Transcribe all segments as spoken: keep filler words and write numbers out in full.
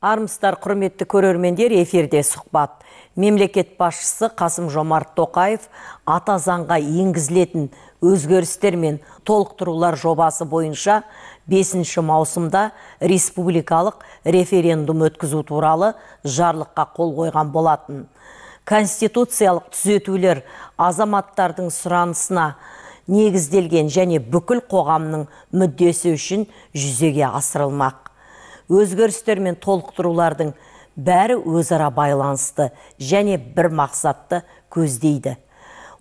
Армысыздар, құрметті көрермендер, эфирде сұхбат. Мемлекет басшысы Қасым-Жомарт Тоқаев ата заңға енгізілетін өзгерістер мен толықтырулар жобасы бойынша бесінші маусымда республикалық референдум өткізу туралы жарлыққа қол қойған болатын. Конституциялық түзетулер азаматтардың сұранысына негізделген және бүкіл қоғамның мүддесі үшін жүзеге асырылмақ. Өзгерістер мен толықтырулардың бәрі өзара байланысты және бір мақсатты көздейді.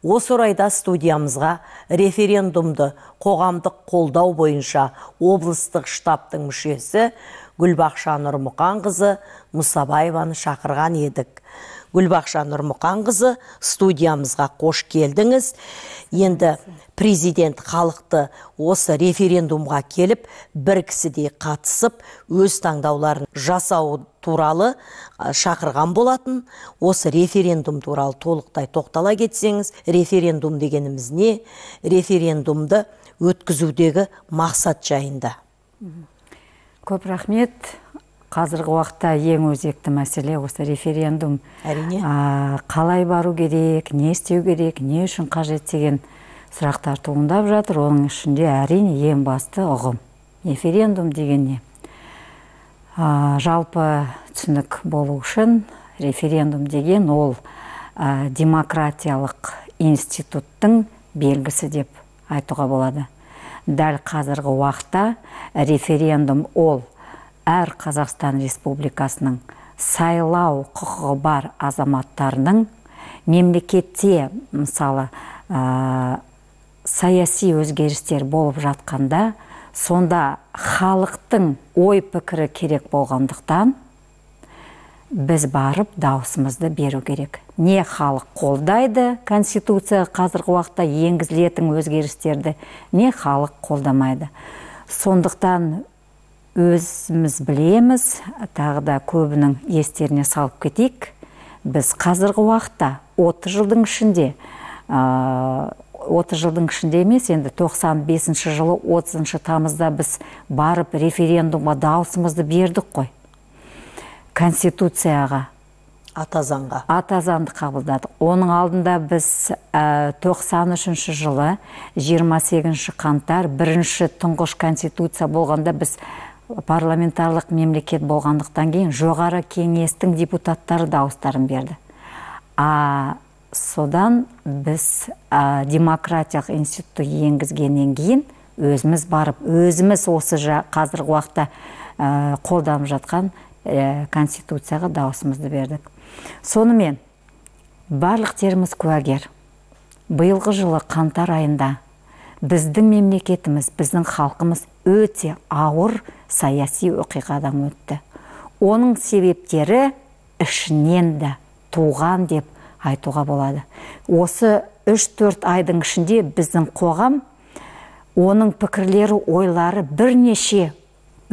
Осы орайда студиямызға референдумды қоғамдық қолдау бойынша облыстық штабтың мүшесі Гүлбақша Нұрмұқанқызы Мұсабаеваны шақырған едік. Гүлбақша Нұрмұқанқызы, студиямызға қош келдіңіз. Енді президент халықты осы референдумға келіп, бір кісідей қатысып, өз таңдауларын жасау туралы шақырған болатын. Осы референдум туралы толықтай тоқтала кетсеңіз, референдум дегеніміз не? Референдумды өткізудегі мақсат жайында. Көп рахмет. Қазіргі уақытта ең өзекті мәселе осы референдум. Әрине. Қалай бару керек, не істеу керек, не үшін қажет деген сұрақтар туындап жатыр. Оның ішінде әрине ең басты ұғым. Референдум деген не? Жалпы түсінік болу үшін референдум деген ол демократиялық институттың белгісі деп айтуға болады. Дәл қазіргі уақытта референдум ол әр Қазақстан Республикасының сайлау құқығы бар азаматтарының мемлекетте, мысалы, саяси өзгерістер болып жатқанда, сонда халықтың ой пікірі керек болғандықтан, біз барып дауысымызды беру керек. Не халық қолдайды Конституция қазіргі уақытта енгізілетін өзгерістерді, не халық қолдамайды. Сондықтан өзіміз білеміз, тағы да көбінің естеріне салып кетейік. Біз қазіргі уақытта отыз жылдың ішінде, отыз жылдың ішінде емес, енді тоқсан бесінші жылы отызыншы тамызда біз барып референдумға дауысымызды бердік қой. Конституцияға, ата заңға. Ата заңды қабылдадық. Оның алдында біз тоқсан үшінші жылы жиырма сегізінші қаңтар бірінші тұңғыш конституция болғанда біз парламентарлық мемлекет болғандықтан кейін жоғары кеңестің депутаттары дауыстарын берді. А содан біз демократиялық институтты енгізгеннен кейін өзіміз барып, өзіміз осы қазіргі уақытта қолданып жатқан конституцияға дауысымызды бердік. Сонымен, барлық теріміз куәгер. Биылғы жылы қаңтар айында біздің мемлекетіміз, біздің халқымыз өте ауыр саяси оқиғадан өтті. Оның себептері ішінен де туған деп айтуға болады. Осы үш төрт айдың ішінде біздің қоғам, оның пікірлері, ойлары бірнеше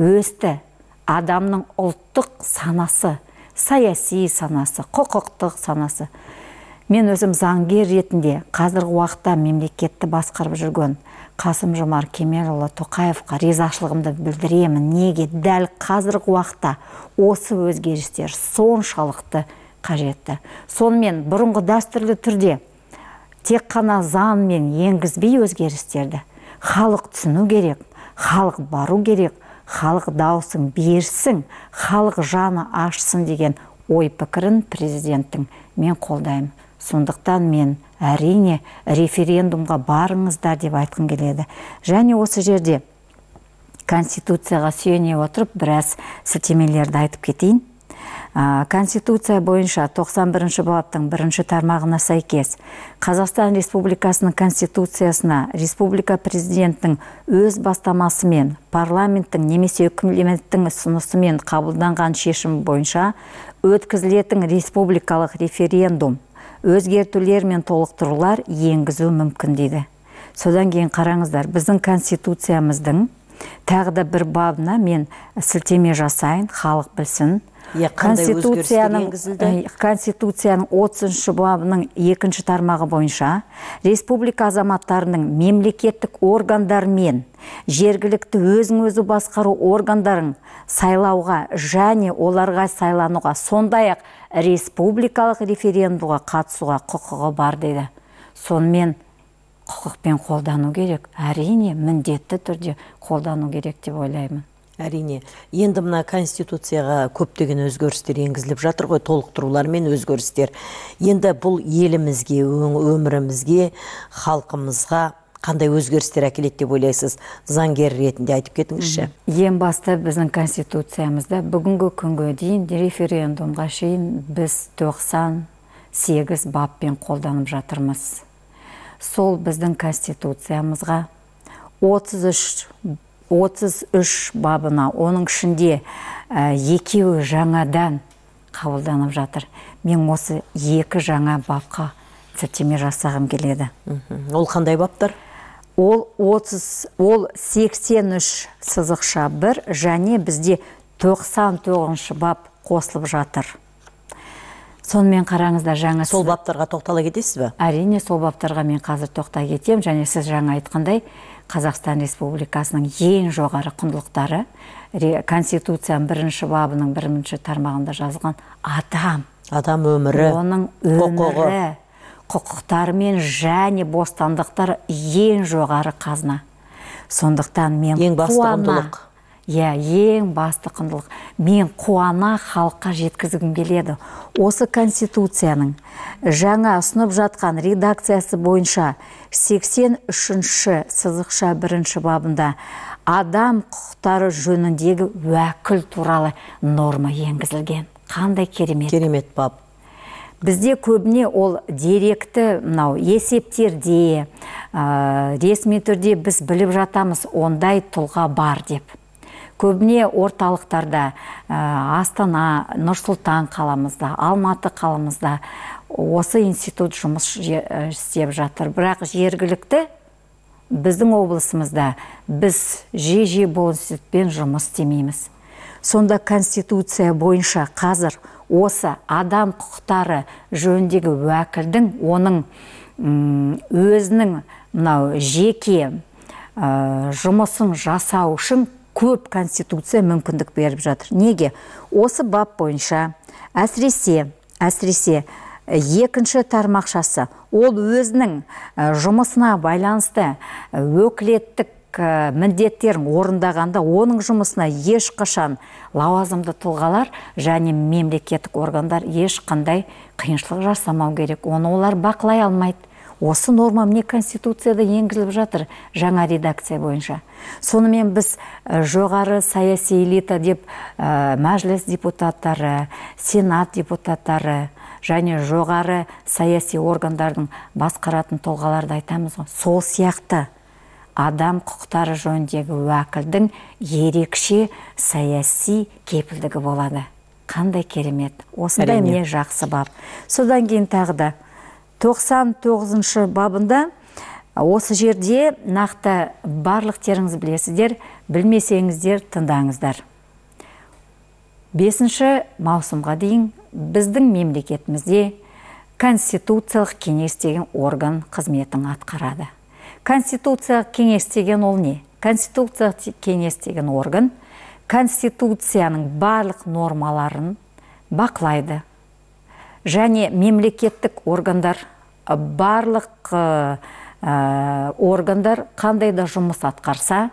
өсті. Адамның ұлттық санасы, саяси санасы, құқықтық санасы. Мен өзім заңгер ретінде қазіргі уақытта мемлекетті басқарып жүрген Қасым-Жомарт Кемелұлы Тоқаевқа ризашылығымды білдіремін. Неге дәл қазіргі уақытта осы өзгерістер соншалықты қажетті. Сонымен бұрынғы дәстүрлі түрде тек қана заңмен енгізбей өзгерістерді халық түсіну керек, халық бару керек, халық дауысын берсін, халық жаны ашсын деген ой пікірін президенттің мен қолдаймын. Сондықтан мен әрине референдумға барыңыздар деп айтқым келеді. Және осы жерде Конституцияға сүйене отырып біраз сілтемелерді айтып кетейін. Конституция бойынша тоқсан бірінші баптың бірінші тармағына сәйкес Қазақстан Республикасының Конституциясына республика президенттің өз бастамасымен парламенттің немесе үкіметтің ұсынысымен қабылданған шешім бойынша өткізілетін республикалық референдум өзгертулер мен толықтырулар енгізу мүмкін дейді. Содан кейін қараңыздар, біздің Конституциямыздың тағы да бір бабына мен сілтеме жасайын, халық білсін. Конституцияның отызыншы бабының екінші тармағы бойынша республика азаматтарының мемлекеттік органдар мен жергілікті өзін өзі басқару органдарын сайлауға және оларға сайлануға, сондай-ақ республикалық референдумға қатысуға құқығы бар дейді. Сонымен құқықпен қолдану керек. Әрине, міндетті түрде қолдану керек деп ойлаймын. Әрине. Енді мына Конституцияға көптеген өзгерістер енгізіліп жатыр ғой, толықтырулар мен өзгерістер. Енді бұл елімізге, өмірімізге, халқымызға қандай өзгерістер әкеледі деп ойлайсыз? Заңгер ретінде айтып кетіңізші. Ең басты біздің Конституциямызда бүгінгі күнге дейін референдумға шейін біз тоқсан сегіз баппен қолданып жатырмыз. Сол біздің Конституциямызға отыз үш бабына, оның ішінде екеуі жаңадан қабылданып жатыр. Мен осы екі жаңа бапқа сілтеме жасағым келеді. Ол қандай баптар? Ол сексен үш сызықша бір және бізде тоқсан тоғызыншы бап қосылып жатыр. Сонымен қараңызда жаңа... Сол баптарға тоқтала кетесіз бе? Әрине, сол баптарға мен қазір тоқта кетем, және сіз жаңа айтқандай, Қазақстан Республикасының ең жоғары құндылықтары Конституцияның бірінші бабының бірінші тармағында жазылған адам. Адам өмірі, оның өмірі, құқықтары мен және бостандықтар ең жоғары қазына. Сондықтан мен ең басты құндылық. Иә, ең басты құндылық. Мен қуана халыққа жеткізгім келеді. Осы Конституцияның жаңа ұсынып жатқан редакциясы бойынша сексен үшінші сызықша бірінші бабында адам құқықтары жөніндегі уәкіл туралы норма енгізілген. Қандай керемет. Керемет бап. Бізде көбіне ол деректі, мынау есептерде, ресми түрде біз біліп жатамыз, ондай тұлға бар деп. Көбіне орталықтарда, Астана, Нұр-Сұлтан қаламызда, Алматы қаламызда осы институт жұмыс істеп жатыр. Бірақ жергілікті біздің облысымызда біз же-же бұл институтпен жұмыс істемейміз. Сонда Конституция бойынша қазір осы адам құқықтары жөніндегі уәкілдің оның өзінің мынау жеке жұмысын жасау үшін көп Конституция мүмкіндік беріп жатыр. Неге? Осы бап бойынша әсіресе, әсіресе екінші тармақшасы, ол өзінің жұмысына байланысты өкілеттік міндеттерін орындағанда, оның жұмысына ешқашан лауазымды тұлғалар және мемлекеттік органдар ешқандай қиыншылық жасамау керек. Оны олар бақылай алмайды. Осы норма міне Конституцияда енгізіліп жатыр жаңа редакция бойынша. Сонымен біз жоғары саяси элита деп мәжіліс депутаттары, сенат депутаттары және жоғары саяси органдардың басқаратын тұлғаларды айтамыз ғой. Сол сияқты адам құқықтары жөніндегі уәкілдің ерекше саяси кепілдігі болады. Қандай керемет. Осындай міне жақсы бап. Содан кейін тағы да тоқсан тоғызыншы бабында осы жерде нақты барлықтеріңіз білесіздер, білмесеңіздер тыңдаңыздар. бесінші маусымға дейін біздің мемлекетімізде Конституциялық кеңес деген орган қызметін атқарады. Конституциялық кеңес деген ол не? Конституциялық кеңес деген орган Конституцияның барлық нормаларын бақылайды. Және мемлекеттік органдар, барлық органдар қандай да жұмыс атқарса,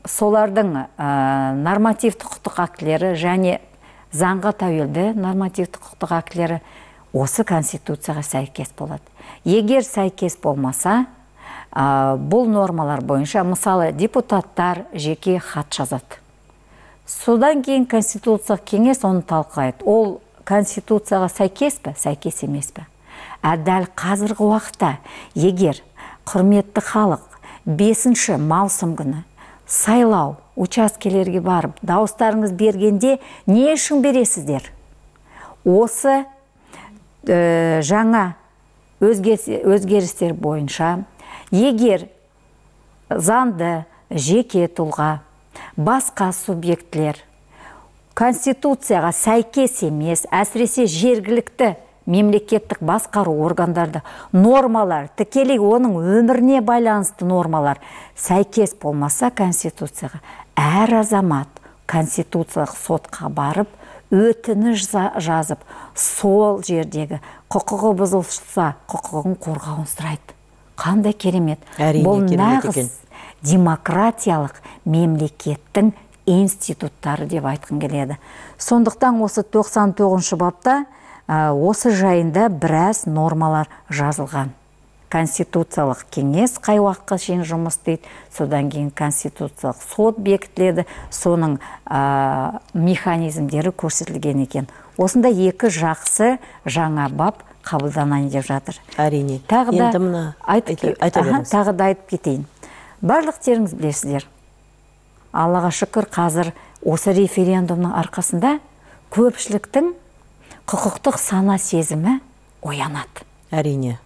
солардың нормативті құқықтық актілері және заңға тәуелді нормативті құқықтық актілері осы Конституцияға сәйкес болады. Егер сәйкес болмаса, бұл нормалар бойынша, мысалы, депутаттар жеке хат жазады. Содан кейін Конституциялық кеңес оны талқылайды. Ол Конституцияға сәйкес пе, сәйкес емес пе? Дәл қазіргі уақытта, егер құрметті халық бесінші маусым күні сайлау учаскелерге барып, дауыстарыңыз бергенде не үшін бересіздер? Осы жаңа өзгерістер бойынша, егер заңды жеке тұлға, басқа субъектлер конституцияға сәйкес емес, әсіресе жергілікті мемлекеттік басқару органдарда нормалар, тікелей оның өміріне байланысты нормалар сәйкес болмаса конституцияға, әр азамат конституциялық сотқа барып, өтініш жазып, сол жердегі құқығы бұзылса, құқығын қорғауын сұрайды. Қандай керемет. Бұл нағыз демократиялық мемлекеттің институттары деп айтқым келеді. Сондықтан осы тоқсан тоғызыншы бапта осы жайында біраз нормалар жазылған. Конституциялық кеңес қай уақытқа шейін жұмыс істейді, содан кейін конституциялық сот бекітіледі, соның механизмдері көрсетілген екен. Осында екі жақсы жаңа бап қабылданайын деп жатыр. Әрине. Тағы да айтып кетейін. Барлықтеріңіз білесіздер. Аллаға шүкір, қазір осы референдумның арқасында көпшіліктің құқықтық сана сезімі оянады. Әрине.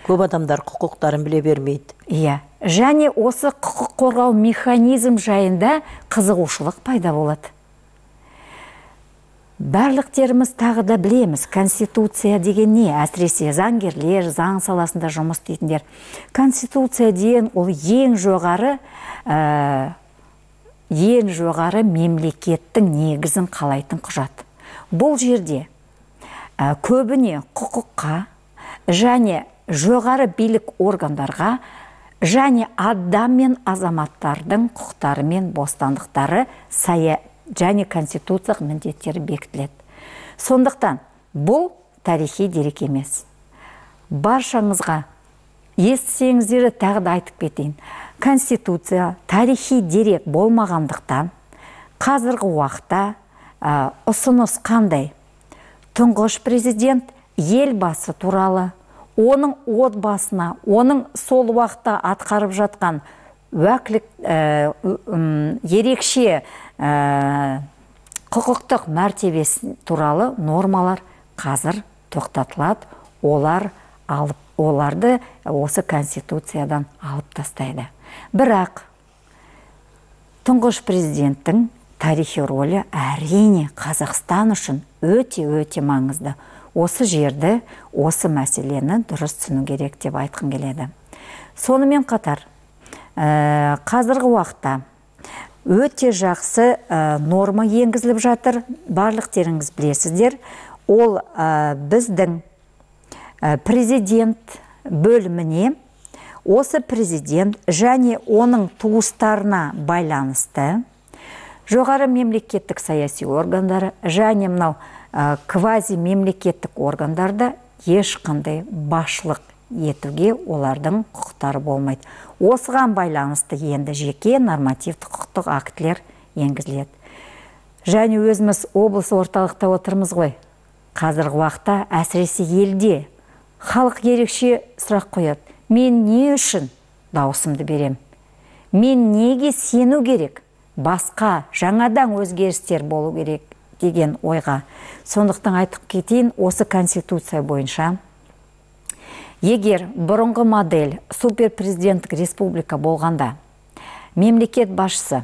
Көп адамдар құқықтарын біле бермейді. Иә. Және осы құқық қорғау механизм жайында қызығушылық пайда болады. Барлықтеріміз тағы да білеміз, конституция деген не? Әсіресе заңгерлер, заң саласында жұмыс істейтіндер. Конституция деген ол ең жоғары ең жоғары мемлекеттің негізін қалайтын құжат. Бұл жерде көбіне құқыққа және жоғары билік органдарға және адам мен азаматтардың құқықтары мен бостандықтары сая және конституциялық міндеттері бекітіледі. Сондықтан бұл тарихи дерек емес. Баршаңызға естісеңіздер тағы да айтып кетейін. Конституция тарихи дерек болмағандықтан қазіргі уақытта ұсыныс қандай? Тұңғыш президент елбасы туралы, оның отбасына, оның сол уақытта атқарып жатқан уәкілік ерекше құқықтық мәртебесі туралы нормалар қазір тоқтатылады. Олар алып, оларды осы конституциядан алып тастайды. Бірақ тұңғыш президенттің тарихи рөлі әрине Қазақстан үшін өте-өте маңызды. Осы жерді, осы мәселені дұрыс түсіну керек деп айтқым келеді. Сонымен қатар, қазіргі уақытта өте жақсы норма енгізіліп жатыр. Барлықтеріңіз білесіздер. Ол біздің президент бөліміне осы президент және оның туыстарына байланысты жоғары мемлекеттік саяси органдары және мынау квази мемлекеттік органдарда ешқандай басшылық етуге олардың құқықтары болмайды. Осыған байланысты енді жеке нормативті құқықтық актілер енгізіледі. Және өзіміз облыс орталықта отырмыз ғой. Қазіргі уақытта әсіресе елде халық ерекше сұрақ қояды. Мен не үшін дауысымды берем? Мен неге сену керек? Басқа жаңадан өзгерістер болу керек деген ойға. Сондықтан айтып кетейін, осы конституция бойынша егер бұрынғы модель суперпрезиденттік республика болғанда мемлекет басшысы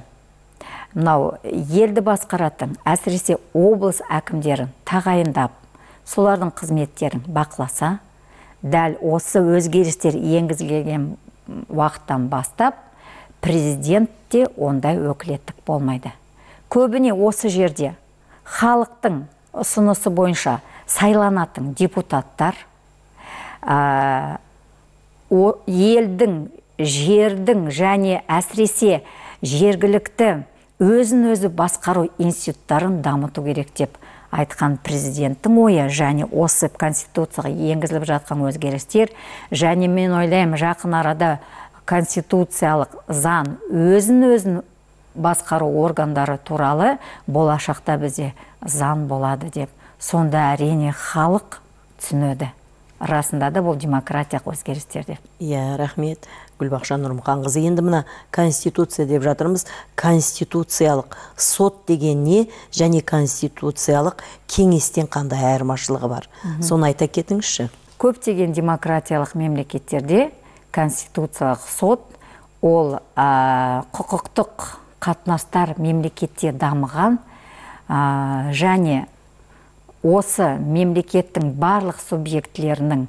мынау елді басқаратын, әсіресе облыс әкімдерін тағайындап, солардың қызметтерін бақыласа, дәл осы өзгерістер енгізілген уақыттан бастап президентте ондай өкілеттік болмайды. Көбіне осы жерде халықтың ұсынысы бойынша сайланатын депутаттар елдің, жердің және әсіресе жергілікті өзін-өзі басқару институттарын дамыту керек деп айтқан президенттің ойы және осы конституцияға енгізіліп жатқан өзгерістер және мен ойлаймын жақын арада конституциялық заң өзін-өзін басқару органдары туралы болашақта бізде заң болады деп. Сонда әрине халық түсінеді. Расында да бұл демократиялық өзгерістер деп. Иә, рахмет. Гүлбақша Нұрмұханқызы. Енді мына конституция деп жатырмыз. Конституциялық сот деген не және конституциялық кеңестен қандай айырмашылығы бар? Соны айта кетіңізші. Көптеген демократиялық мемлекеттерде конституциялық сот ол құқықтық қатынастар мемлекетте дамыған және осы мемлекеттің барлық субъектілерінің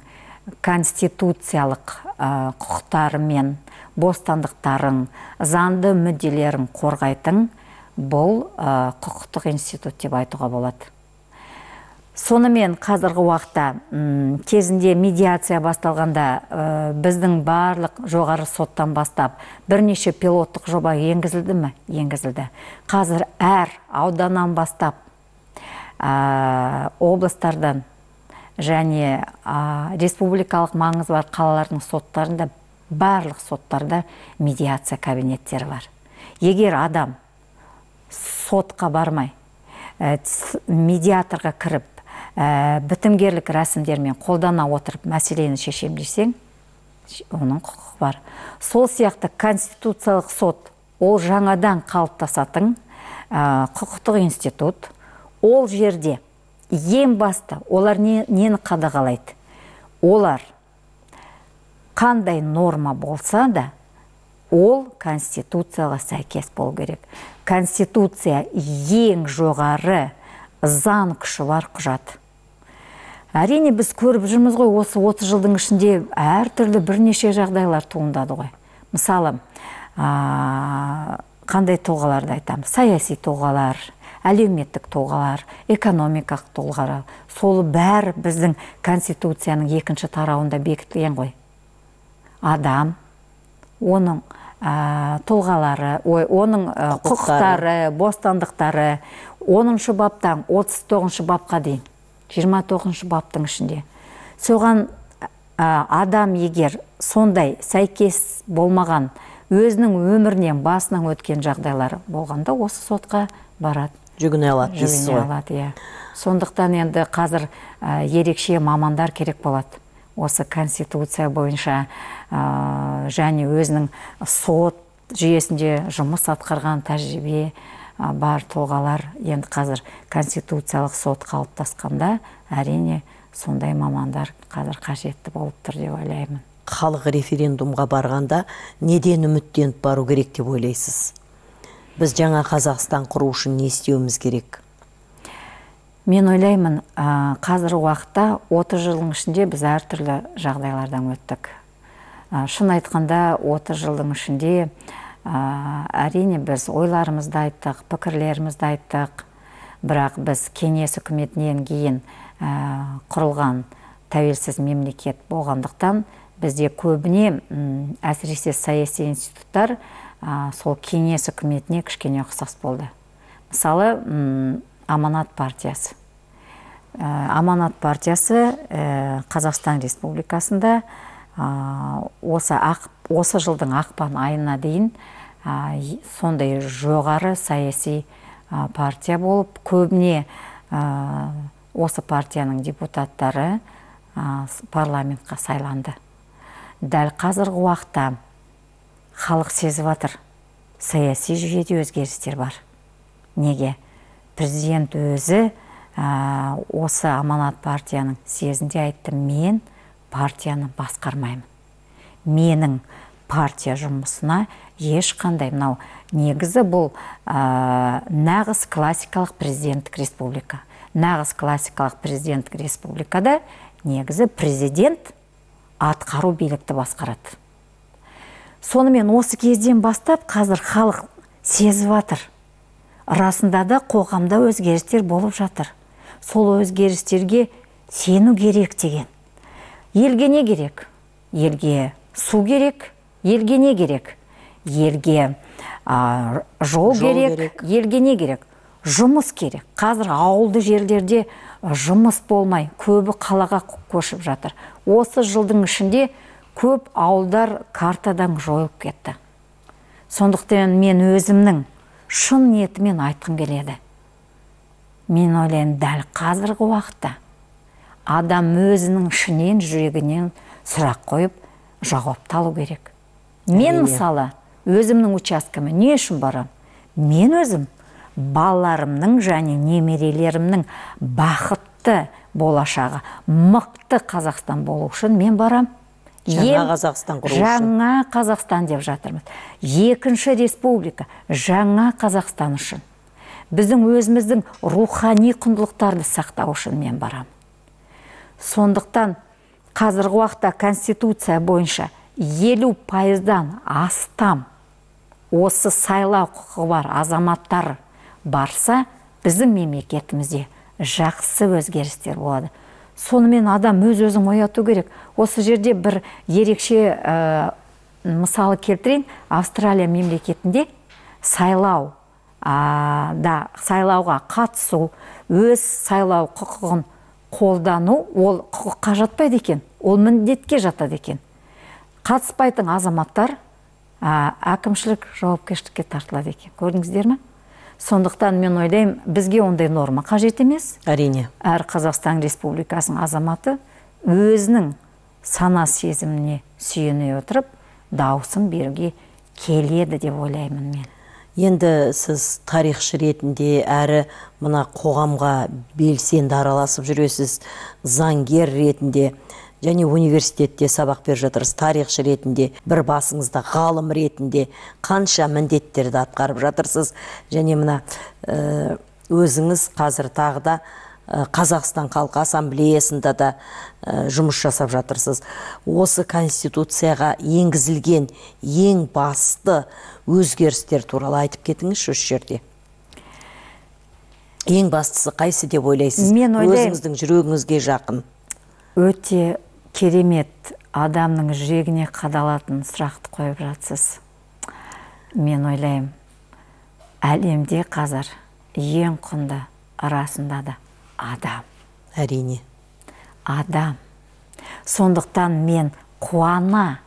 конституциялық құқықтары мен бостандықтарын, заңды мүдделерін қорғайтын бұл құқықтық институт деп айтуға болады. Сонымен қазіргі уақытта кезінде медиация басталғанда біздің барлық жоғары соттан бастап бірнеше пилоттық жоба енгізілді ме? Енгізілді. Қазір әр ауданнан бастап облыстардан және республикалық маңызы бар қалалардың соттарында, барлық соттарда медиация кабинеттері бар. Егер адам сотқа бармай, медиаторға кіріп, бітімгерлік рәсімдермен қолдана отырып мәселені шешем десең, оның құқығы бар. Сол сияқты конституциялық сот, ол жаңадан қалыптасатын құқықтық институт. Ол жерде ең басты олар нені қадағалайды? Олар қандай норма болса да, ол конституцияға сәйкес болу керек. Конституция ең жоғары заң күші бар құжат. Әрине біз көріп жүрміз ғой, осы отыз жылдың ішінде әртүрлі бірнеше жағдайлар туындады ғой. Мысалы, қандай тұлғаларды айтамыз? Саяси тұлғалар, әлеуметтік тұлғалар, экономикалық тұлғалар. Сол бәрі біздің конституцияның екінші тарауында бекітілген ғой. Адам, оның тұлғалары, оның құқықтары, бостандықтары, оныншы баптан отыз тоғызыншы бапқа дейін, жиырма тоғызыншы баптың ішінде. Соған адам егер сондай сәйкес болмаған өзінің өмірінен басынан өткен жағдайлары болғанда, осы сотқа барады. Жүгіне алады. Жүгіне алады, сондықтан енді қазір ерекше мамандар керек болады. Осы конституция бойынша және өзінің сот жүйесінде жұмыс атқарған тәжірибе бар тұлғалар енді қазір конституциялық сот қалыптасқанда, әрине сондай мамандар қазір қажетті болып тұр деп ойлаймын. Халық референдумға барғанда неден үміттеніп бару керек деп ойлайсыз? Біз жаңа Қазақстан құру үшін не істеуіміз керек? Мен ойлаймын, қазір уақытта отыз жылдың ішінде біз әртүрлі жағдайлардан өттік. Шын айтқанда отыз жылдың ішінде әрине біз ойларымызды айттық, пікірлерімізді айттық, бірақ біз кеңес үкіметінен кейін құрылған тәуелсіз мемлекет болғандықтан бізде көбіне әсіресе саяси институттар сол кеңес үкіметіне кішкене ұқсас болды. Мысалы, Аманат партиясы. Аманат партиясы Қазақстан Республикасында осы жылдың ақпан айына дейін сондай жоғары саяси партия болып, көбіне осы партияның депутаттары парламентқа сайланды. Дәл қазіргі уақытта халық сезіп жатыр, саяси жүйеде өзгерістер бар. Неге? Президент өзі осы Аманат партияның съезінде айтты, мен партияны басқармаймын. Менің партия жұмысына ешқандай, мынау негізі бұл нағыз классикалық президенттік республика. Нағыз классикалық президенттік республикада негізі президент атқару билікті басқарады. Сонымен осы кезден бастап қазір халық сезіп жатыр. Расында да қоғамда өзгерістер болып жатыр. Сол өзгерістерге сену керек деген. Елге не керек? Елге су керек, елге не керек? Елге жол керек, елге не керек? Жұмыс керек. Қазір ауылды жерлерде жұмыс болмай, көбі қалаға көшіп жатыр. Осы жылдың ішінде көп ауылдар картадан жойылып кетті. Сондықтан мен өзімнің шын ниетімен айтқым келеді. Мен ойлаймын, дәл қазіргі уақытта адам өзінің ішінен, жүрегінен сұрақ қойып, жауапты алу керек. Мен мысалы, өзімнің учаскеме не үшін барам? Мен өзім балаларымның және немерелерімнің бақытты болашағы, мықты Қазақстан болу үшін мен барам. Жаңа Қазақстан құру үшін. Жаңа Қазақстан деп жатырмыз. Екінші республика, жаңа Қазақстан үшін. біздің өзіміздің рухани құндылықтарды сақтау үшін мен барам. Сондықтан қазіргі уақытта Конституция бойынша елу пайыздан астам осы сайлау құқығы бар азаматтар барса, біздің мемлекетімізде жақсы өзгерістер болады. Сонымен адам өз-өзін ояту керек. Осы жерде бір ерекше ә, мысалы келтірейін. Австралия мемлекетінде сайлау а, да, сайлауға қатысу, өз сайлау құқығын қолдану, ол құқыққа жатпайды екен, ол міндетке жатады екен. Қатыспайтын азаматтар а, әкімшілік жауапкершілікке тартылады екен. Көрдіңіздер ме? Сондықтан мен ойлаймын, бізге ондай норма қажет емес. Әрине. Әр Қазақстан Республикасының азаматы өзінің сана сезіміне сүйене отырып, дауысын беруге келеді деп ойлаймын мен. Енді сіз тарихшы ретінде әрі мына қоғамға белсенді араласып жүресіз, заңгер ретінде және университетте сабақ беріп жатырсыз, тарихшы ретінде, бір басыңызда ғалым ретінде қанша міндеттерді атқарып жатырсыз, және мына ә, өзіңіз қазір тағы да ә, Қазақстан Халқы Ассамблеясында да ә, жұмыс жасап жатырсыз. Осы Конституцияға енгізілген ең басты өзгерістер туралы айтып кетіңізші осы жерде. Ең бастысы қайсы деп ойлайсыз? Мен ойлаймын, өзіңіздің жүрегіңізге жақын. Өте керемет, адамның жүрегіне қадалатын сұрақты қойып жатсыз. Мен ойлаймын, әлемде қазір ең құнды арасында да адам. Әрине. Адам. Сондықтан мен қуана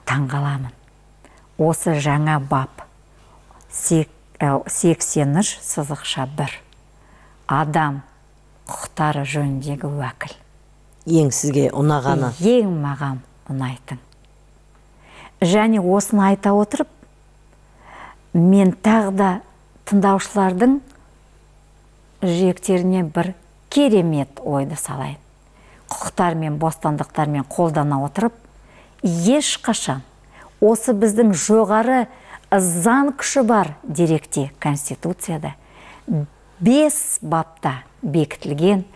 таңғаламын. Осы жаңа бап сексен үш сызықша бір. Адам құқықтары жөніндегі уәкіл. Ең сізге ұнағаны? Ең маған ұнайтын. Және осыны айта отырып, мен тағы да тыңдаушылардың жүректеріне бір керемет ойды салайын. Құқықтар мен бостандықтармен қолдана отырып, ешқашан осы біздің жоғары заң күші бар деректе, Конституцияда, бес бапта бекітілген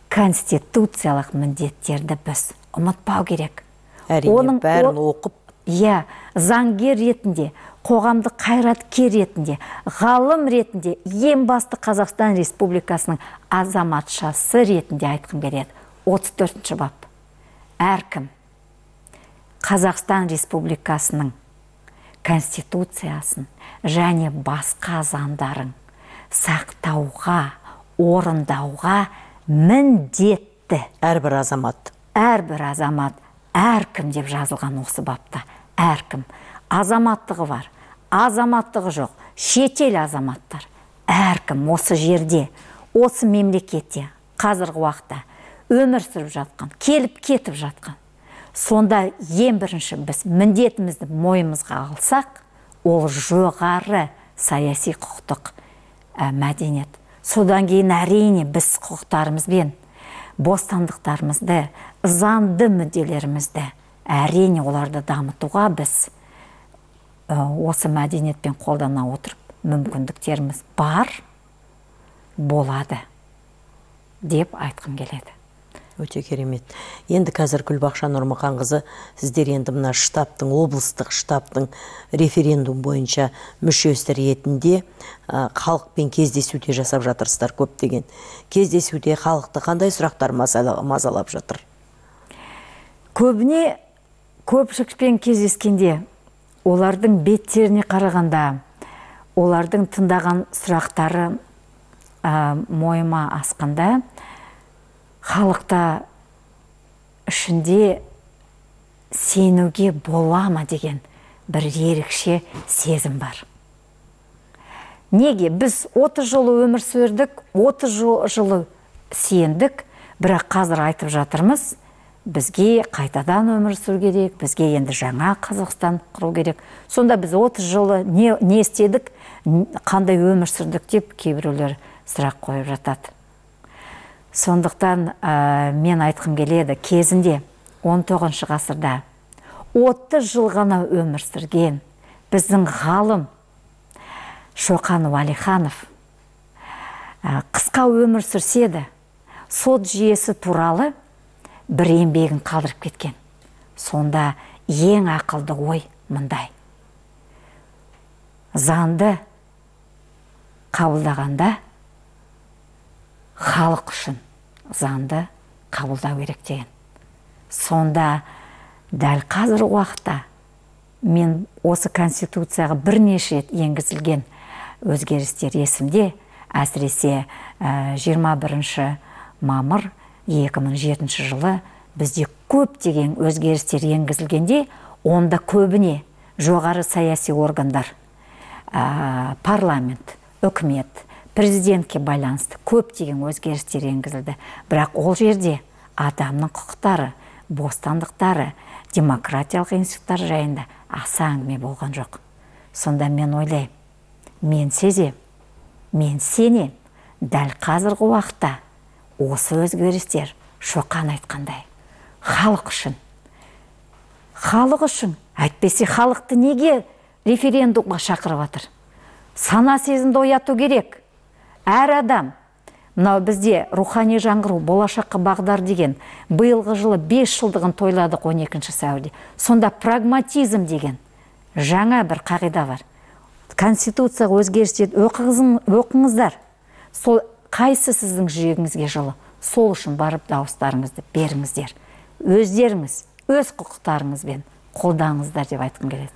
конституциялық міндеттерді біз ұмытпау керек. Әрине, бәрін оқып. Иә, заңгер ретінде, қоғамдық қайраткер ретінде, ғалым ретінде, ең басты Қазақстан Республикасының азаматшасы ретінде айтқым келеді. отыз төртінші бап. Әркім Қазақстан Республикасының Конституциясын және басқа заңдарын сақтауға, орындауға міндетті. Әрбір азамат. Әрбір азамат, әркім деп жазылған осы бапта. Әркім. Азаматтығы бар, азаматтығы жоқ, шетел азаматтар. Әркім осы жерде, осы мемлекетте, қазіргі уақытта өмір сүріп жатқан, келіп кетіп жатқан. Сонда ең бірінші біз міндетімізді мойнымызға алсақ, ол жоғары саяси құқықтық ә, мәдениет. Содан кейін әрине біз құқықтарымызбен бостандықтарымызды, заңды мүдделерімізді, әрине оларды дамытуға біз ә, осы мәдениетпен қолдана отырып, мүмкіндіктеріміз бар, болады деп айтқым келеді. Өте керемет. Енді қазір Күлбақша Нұрмұқанқызы, сіздер енді мына штабтың, облыстық штабтың референдум бойынша мүшесі ретінде халықпен кездесуде жасап жатырсыздар көптеген. Кездесуде халықты қандай сұрақтар мазалап жатыр? Көбіне көпшілікпен кездескенде, олардың беттеріне қарағанда, олардың тыңдаған сұрақтары ә, мойыма асқанда, халықта ішінде сенуге бола ма деген бір ерекше сезім бар. Неге? Біз отыз жылы өмір сүрдік, отыз жылы сендік, бірақ қазір айтып жатырмыз, бізге қайтадан өмір сүру керек, бізге енді жаңа Қазақстан құру керек. Сонда біз отыз жылы не, не істедік, қандай өмір сүрдік деп кейбіреулер сұрақ қойып жатады. Сондықтан ә, мен айтқым келеді, кезінде он тоғызыншы ғасырда отыз жыл ғана өмір сүрген біздің ғалым Шоқан Уәлиханов қысқа өмір сүрсе де сот жүйесі туралы бір еңбегін қалдырып кеткен. Сонда ең ақылды ой мындай: заңды қабылдағанда халық үшін заңды қабылдау керек деген. Сонда дәл қазір уақытта мен осы конституцияға бірнеше рет енгізілген өзгерістер есімде, әсіресе жиырма бірінші мамыр екі мың жетінші жылы бізде көптеген өзгерістер енгізілгенде, онда көбіне жоғары саяси органдар, парламент, үкімет, президентке байланысты көптеген өзгерістер енгізілді. Бірақ ол жерде адамның құқықтары, бостандықтары, демократиялық институттар жайында аса әңгіме болған жоқ. Сонда мен ойлаймын, мен сезем, мен сенем, дәл қазіргі уақытта осы өзгерістер Шоқан айтқандай халық үшін. Халық үшін, әйтпесе халықты неге референдумға шақырып жатыр? Сана сезімді ояту керек. Әр адам, мынау бізде рухани жаңғыру, болашаққа бағдар деген биылғы жылы бес жылдығын тойладық он екінші сәуірде. Сонда прагматизм деген жаңа бір қағида бар. Конституцияға өзгерістер оқыңыздар. Сол қайсы сіздің жүрегіңізге жылы, сол үшін барып дауыстарыңызды беріңіздер. Өздеріңіз, өз құқықтарыңызбен қолдаңыздар деп айтқым келеді.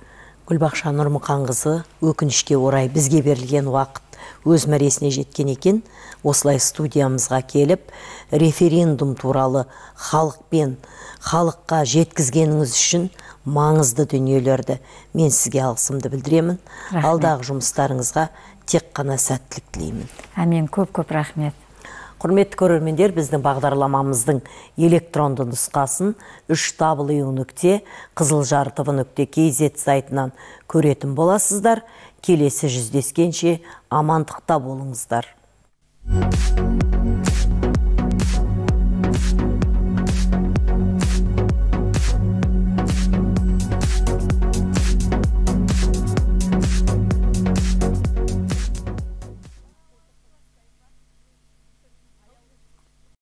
Гүлбақша Нұрмұқанқызы, өкінішке орай бізге берілген уақыт өз мәресіне жеткен екен. Осылай студиямызға келіп, референдум туралы халықпен, халыққа жеткізгеніңіз үшін маңызды дүниелерді мен сізге алғысымды білдіремін. Алдағы жұмыстарыңызға тек қана сәттілік тілеймін. Әмен, көп-көп рахмет. Құрметті көрермендер, біздің бағдарламамыздың электронды нұсқасын үш дабл ю нүкте қызылжар тэ вэ нүкте кей зет сайтынан көретін боласыздар. Келесі жүздескенше амандықта болыңыздар.